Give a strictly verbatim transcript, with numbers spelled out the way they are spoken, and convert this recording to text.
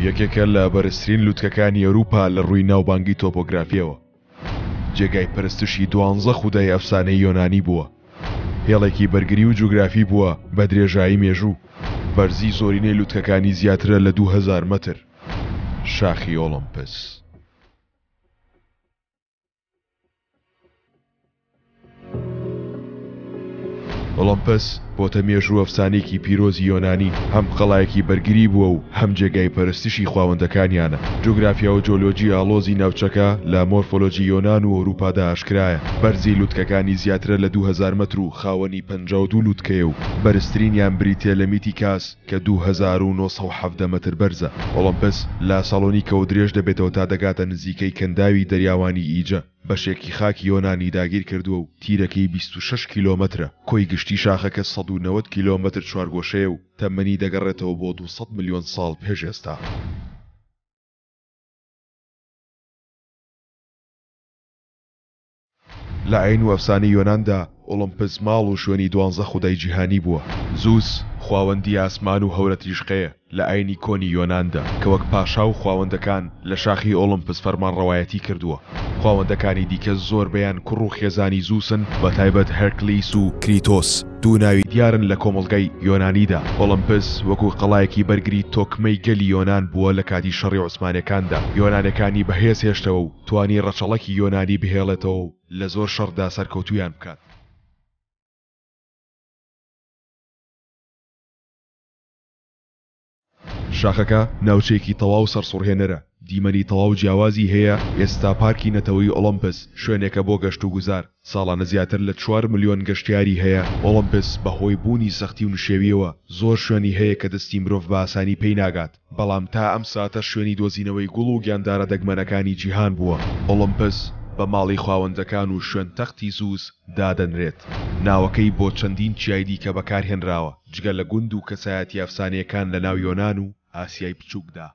یەکێکە لە بەرزترین لوتکەکانی ئەوروپا لە ڕووی ناوبانگی تۆپۆگرافیەوە. جێگای پەرستشی دوانزە خودای ئەفسانەی یۆنانی بووە. هێڵێکی بەرگری و جوگرافی بووە بە درێژایی مێژوو. بەرزی زۆرینەی لوتکەکانی زیاترە لە دوو هەزار مەتر. شاخی ئۆڵمپس. ئۆڵمپس بۆتە مێژوو ئەفسانێکی پیرۆزی یۆنانی، هەم قەڵایەکی بەرگری بووە و هەم جێگای پەرستشی خواوەندەکانیانە. جوگرافیا و جۆلۆجی ئاڵۆزی ناوچەکە لە مۆرفۆلۆجی یۆنان و ئەوروپادا ئاشکرایە. بەرزی لوتکەکانی زیاترە لە دوو هەزار مەتر و خاوەنی پەنجا و دوو لوتکەیە و بەرزترینیان بریتیە لە میتیکاس کە دوو هەزار و نۆ سەد و حەڤدە مەتر بەرزە. ئۆڵمپس لە سالۆنیکەوە درێژ دەبێتەوە تا دەگاتە نزیکەی کەنداوی دەریاوانی ئیجە. بەشێکی خاکی یۆنانی داگیر کردووە و تیرەکەی بیست و شەش کیلۆمەترە. کۆی گشتی شاخەکە سەد و نەوەد کیلۆمەتر چوارگۆشەیە و تەمەنی دەگەڕێتەوە بۆ دوو سەد ملیۆن ساڵ پێش ئێستا. لە ئاین و ئەفسانەی یۆناندا ئۆڵمپس ماڵ و شوێنی دوانزە خودای جیهانی بووە. زوس خواوەندی ئاسمان و هەورەتریشقەیە لە ئاینی کۆنی یۆناندا کە وەک پاشا و خواوەندەکان لە شاخی ئۆڵمپس فەرمانڕەوایەتی کردووە. خواوەندەکانی دیکە زۆربەیان کوڕ و خێزانی زوسن، بە تایبەت هێرکلیس و کریتۆس دوو ناوی دیارن لە کۆمەڵگای یۆنانیدا. ئۆڵمپس وەکو قەڵایەکی بەرگری تۆکمەی گەلی یۆنان بووە لە کاتی شەڕی عوسمانەکاندا. یۆنانەکانی بەهێز هێشتەوە و توانی ڕەچەڵەکی یۆنانی بهێڵێتەوە و لە زۆر شەڕدا سەرکەوتویان بکات. شاخەکە ناوچەیەکی تەواو سەرسوڕهێنەرە، دیمەنی تەواو جیاوازی هەیە. ئێستا پارکی نەتەوەی ئۆڵمپس شوێنێکە بۆ گەشت و گوزار، ساڵانە زیاتر لە چوار ملیۆن گەشتیاری هەیە. ئۆڵمپس بەهۆی بوونی سەختی و نشێویەوە زۆر شوێنی هەیە کە دەستی مرۆڤ بە ئاسانی پێی ناگات، بەڵام تا ئەم ساتە شوێنی دۆزینەوەی گوڵ و گیاندارە دەگمەنەکانی جیهان بووە. ئۆڵمپس بە ماڵی خواوەندەکان و شوێن تەختی زوس دادەنرێت. ناوەکەی بۆ چەندین چیای دیکە بەکارهێنراوە، جگە لە گوند و کەسایەتی ئەفسانەیەکان لە ناو یۆنان و ئاسیای بچووکدا.